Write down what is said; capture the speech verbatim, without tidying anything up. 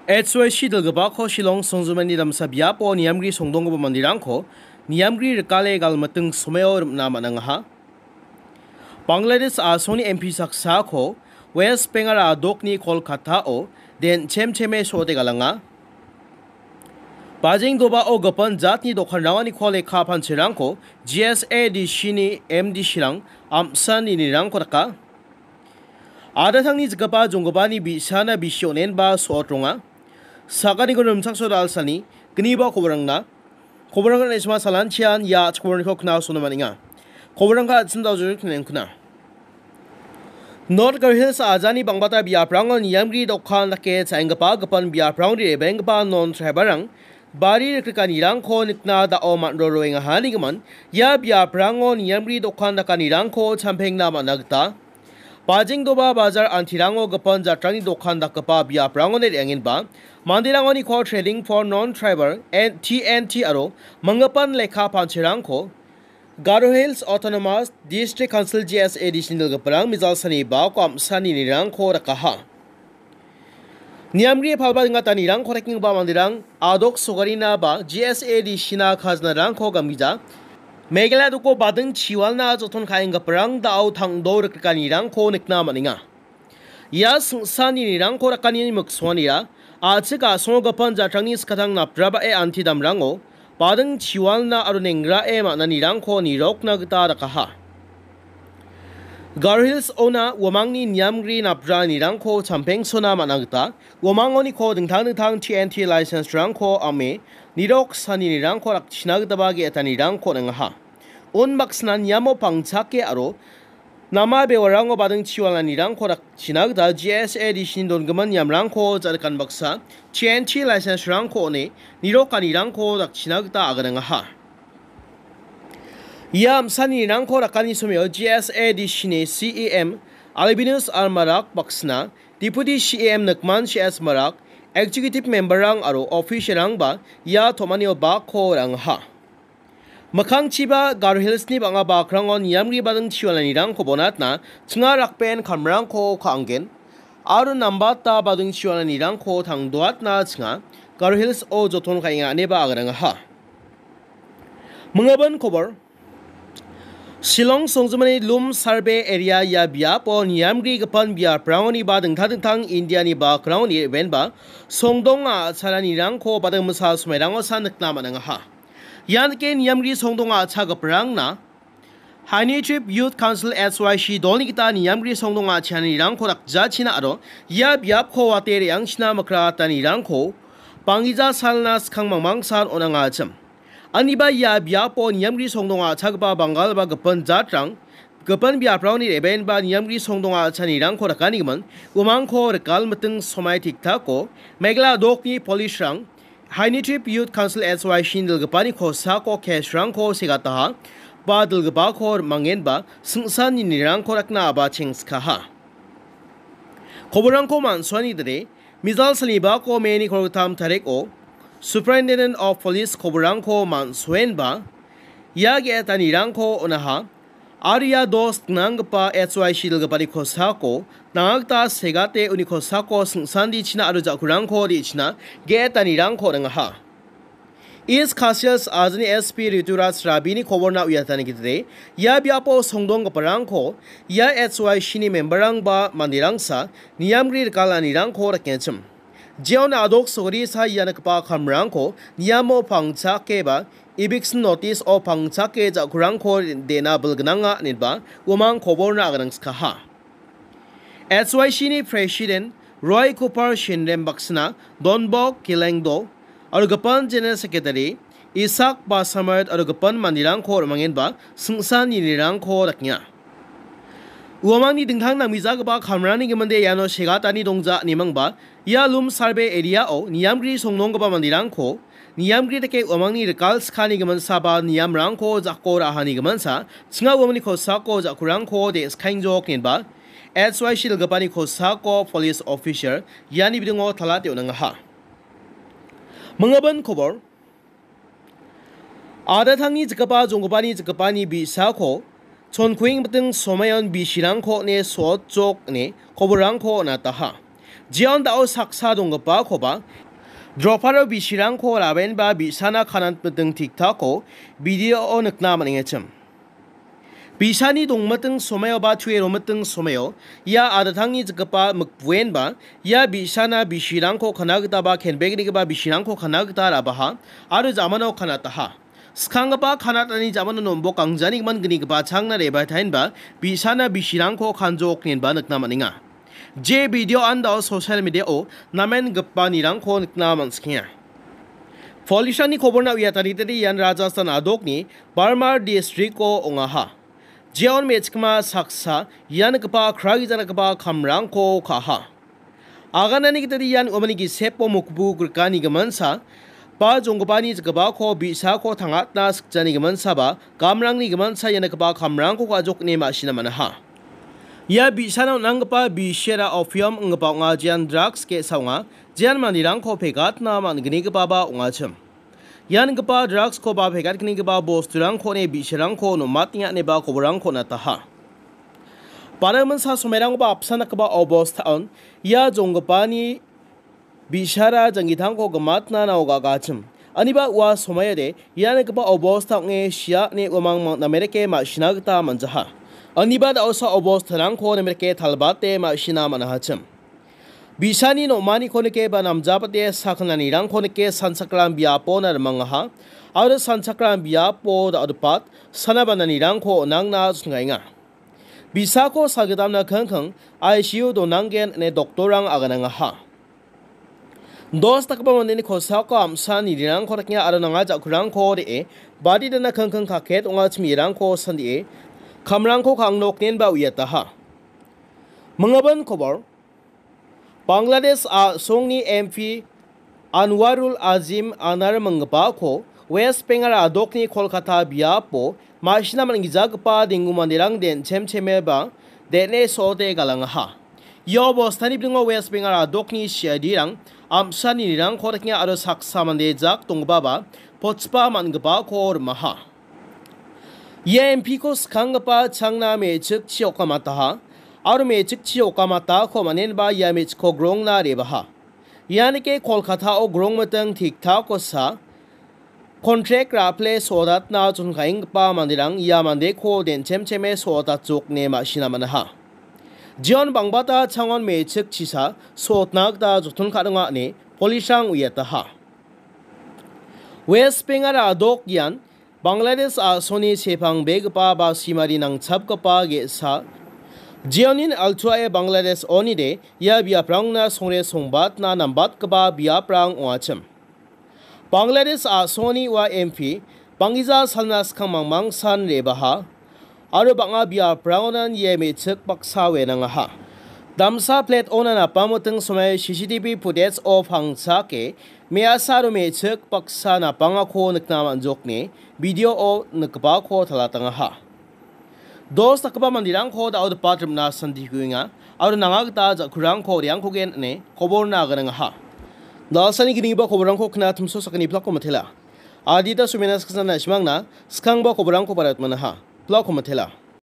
H Y C dilgipako Shillong songjinmani damsa biapo niamgri songdonggipa manderangko niamgri rikale galmiting somaio rim·na man·angaha. Bangladesh a·songni M P saksako West Bengal a·dokni Kolkatao den chemcheme so·ode galanga. Bajeng dobao gipin jatni dokanrangoniko lekka pancherangko G S A D C ni M D C rang am·san ninirangko daka. Adatangni jikgipa jonggipani bi·sana bisi on·enba so·ot ronga. Sakaniko rimchaksoa da·alsani gniba koborangna. Koborangna isma salanchian ia chikkoborangko kna·o sona man·enga. Koborangka an·ching daljuni knengkuna. North Garo Hills ajani bangbata biaprango niamgri dokan dake cha·enggipa gipin biaprangni re·baenggipa non tribal-rang bari rikrikanirangko nikna da·o man·roroengahanigimin ia biaprango niamgri dokan dakanirangko champengna man·a gita. Bajengdoba bajar antirango gipin jatrangni dokan dakgipa biaprangoni re·angenba manderangoniko Trading for Non-Tribal and T N T aro manggipan lekka pancherangko Garo Hills Autonomous District Council G S A D C ni dilgiparang mijal sani bako am·sani nirangko rakaha. Niamgri palba dingata nirangko rekenggipa manderang adok sogarina ba G S A D C na kajnarangko gamgija Meghalaya doko bading chiwalna joton ka·enggiparang da·o tangdo rikrikanirangko nikna man·enga. Ia sing·sani nirangko rakani miksuanira a·chik a·songo gipin jatrangni skatang napraba·e anti damrango bading chiwalna aro nengrae man·anirangko nirokna gita dakaha. Garo Hills ona uamangni niamgri napranirangko champengsona man·a gita uamangoniko dingtang dingtang T N T license-rangko ame nirok saninirangko rakchina gitaba ge·etanirangko on·engaha. Unbaksana niamo pangchake aro nama bewarango bading chiwalanirangko rakchina gita G S A D C ni dongimin niamrangko jarikan baksa T N T license-rangko on·e nirokanirangko rakchina gita aganangaha. Ia am·sanirangko rakani somio G S A D C ni C E M Albinus R Marak baksana, Deputy C E M Nikman C S Marak, Executive Member-rang aro official-rangba ia tom·anio bakko ra·angaha. Mikkangchiba Garo Hills-ni bang·a bakrango niamgri bading chiwalanirangko bonatna chinga rakben kamrangko ka·angen aro nambata bading chiwalanirangko tangdoatna chinga Garo Hills-o joton ka·enga ineba aganangaha. Mingabin kobor. Shillong songjinmani Lum Survey Area ia biapo niamgrigipan biaprangoni ba dingtang dingtang Indiani bakrangoni re·baenba songdong a·chalanirangko bading misa somairangosa nikna man·angaha. Ian dake niamgri songdong a·chagiparangna Haini Trip Youth Council H Y C dolni gita niamgri songdong a·chalanirangko dakjachina aro ia biapko wate re·angchina mikratanirangko banggija salna skang mangmangsan on·angachim. Aniba ia biapo niamgri songdong a·chagipa Bangal ba gipin jatrang, gipin biaprangni re·baenba niamgri songdong a·chanirangko rakanigimin, uamangko rikal miting somai tiktako, Meghalaya dokni police-rang, Haini Trip Youth Council H Y C ni dilgipani kosako case-rangko segataha, ba dilgipako mangenba sing·sanni nirangko rakna aba chengskaha. Koborrangko man·suani dide, Mijal salibako May-ni kolgittam tariko Superintendent of Police koborrangko man·soenba ia ge·etanirangko on·aha. Aro ia dos gnanggipa H Y C dilgipani kosako nangakta segate uni kosako sing·sandichina aro ja·kurangko de·china ge·etanirangko on·angaha. East Khasi Hills ajani S P Rituraj Rabini koborna uiatani gitade, ia biapo songdonggiparangko ia H Y C ni member-rangba manderangsa niamgri rikalanirangko rakenchim. Jeon adok sogri sa ia nikgipa kamrangko niamo pangchake ba eviction notice-o pangchake ja·kurangko de·na bilgnanga ineba uamang koborna aganangskaha. H Y C ni President Roy Cooper Shinrem baksana Donbok Kilengdo aro gipin General Secretary Isak Basamert aro gipin manderangko rimangenba sing·sanni nirangko dakenga. Uamangni dingtang nangmijagipa kamrani giminde iano segatani dongja inimangba ia Lum Survey area-o niamgri songnonggipa manderangko niamgri dake uamangni rikal skani giminsaba niamrangko jako ra·hani giminsa, chinga uamangni kosako jakurangko de·skaengjok inenba H Y C dilgipani kosako police officer iani bidingo talate on·angaha. Mingabin kobor. Adatangni jikgipa jonggipani jikgipani bi·sako chonkuengbiting somaion bisirangko on·e sotjok ine koborrangko on·ataha. Jeon dao saksa donggipakoba droparo bisirangko rabenba bi·sana kanatmiting tiktako video-o nikna man·engachim. Bisani dongmiting somaioba tue romiting somaio ia adatangni jikgipa mikbuenba ia bi·sana bisirangko kana gitaba kenbegnigipa bisirangko kana gita rabaha aro jamano kanataha. Skanggipa kanatani jamano nombok angjanigimin gnigipa changna rebaitaenba bi·sana bisirangko kanjoknenba nikna man·enga. Je video andao social media-o namen gipanirangko nikna man·sikenga. Police-rangni koborna uiatanitade ian Rajasthan adokni Barmar district-o ong·aha. Jeon me·chikma saksa ian gipa kragijangipa kamrangko ka·aha. Aganani gitade ian uamangni gisepo mokbu grikani giminsa, ba jonggipani jikgipako bi·sako tangatna sikjani giminsaba, gamrangni giminsa ian gipa kamrangko ka·jokne ma·sina man·aha. Ia bi·sana on·anggipa bisera opium ong·gipa ong·a, jean drugs ge·sa ong·a, jean manderangko pegatna man·gnigipaba ong·achim. Ian gipa drugskoba pegatgnigipa bosturangko on·e bi·sarangko nom·atenga ineba koborangko nataha. Bana giminsa somairangba apsan dakgipa obostaon ia jonggipani bi·sara janggitangko gimatna nao ga·gachim. Aniba ua somaiode ian gipa obosta ong·e sia ine uamang mang-, namerike ma·sina gita man·jaha. Aniba da·osa obostarangko namerike talbate ma·sina man·ahachim. Bi·sani nom·aniko nike ba namjabate sakgnanirangko nike sanchakram biapona rimangaha. Aro sanchakram biapo da·odepat sana bananirangko on·angna chongaenga. Bi·sako salgidamna kingking I C U donanggen ine doktorrang aganangaha. Dos dakgipa mandeni kosako am·sa nirirangko dakenga aro nanga ja·kurangko re·e, badi dana kingking kaket ong·a chimirangko sandie, kamrangko ka·angnoknenba uiataha. Minggimin kobor, Bangladesh a·songni M P Anwarul Azim Anar minggipako West Bengal adokni Kolkata biapo ma·sina man·gijagipa denggu manderang den·chemcheme ba den·e so·ote galangaha. Ia obostani bilingo West Bengal adokni C I D-rang am·sa nirirangko dakenga aro saksa mande jak donggipaba pochipa man·gipako rimaha. Ia M P-ko skanggipa changna me·chikchi okamataha, aro me·chikchi okamatako man·enba ia me·chikko grongna rebaha. Ianike Kolkata-o grongmiting tiktakosa kontrak ra·pile so·odatna chonkaenggipa manderang ia mandeko den·chemcheme so·odatjokne ma·sina man·aha. Jeon bangbata changon me·chikchisa so·otna gita joton ka·donga ine polisrang uiataha. West Bengal adok ian Bangladesh a·songni sepangbegipa ba simari nangchapgipa ge·sa. Jeonin altuae Bangladesh onide ia biaprangna songre songbatna nambatgipa biaprang ong·achim. Bangladesh a·songni ua M P banggija salna skang mangmangsan rebaha. Aro bang·a biaprangonan ia me·chik baksa wenangaha. Damsa plate ona napangmiting somai C C T V footage-o pangchake me·asa aro me·chik baksa napangako nikna man·jokne video-o nikgipako talatangaha. Dos dakgipa manderangko da·odepat rimna santikuenga aro nanga gita ja·kurangko re·angkogen ine koborna aganangaha. Dalsani ginigipa koborangko kna timso sakgni plako matela. Adita sumena saksa na·simangna skangba koborangko barat manaha. Plako matela.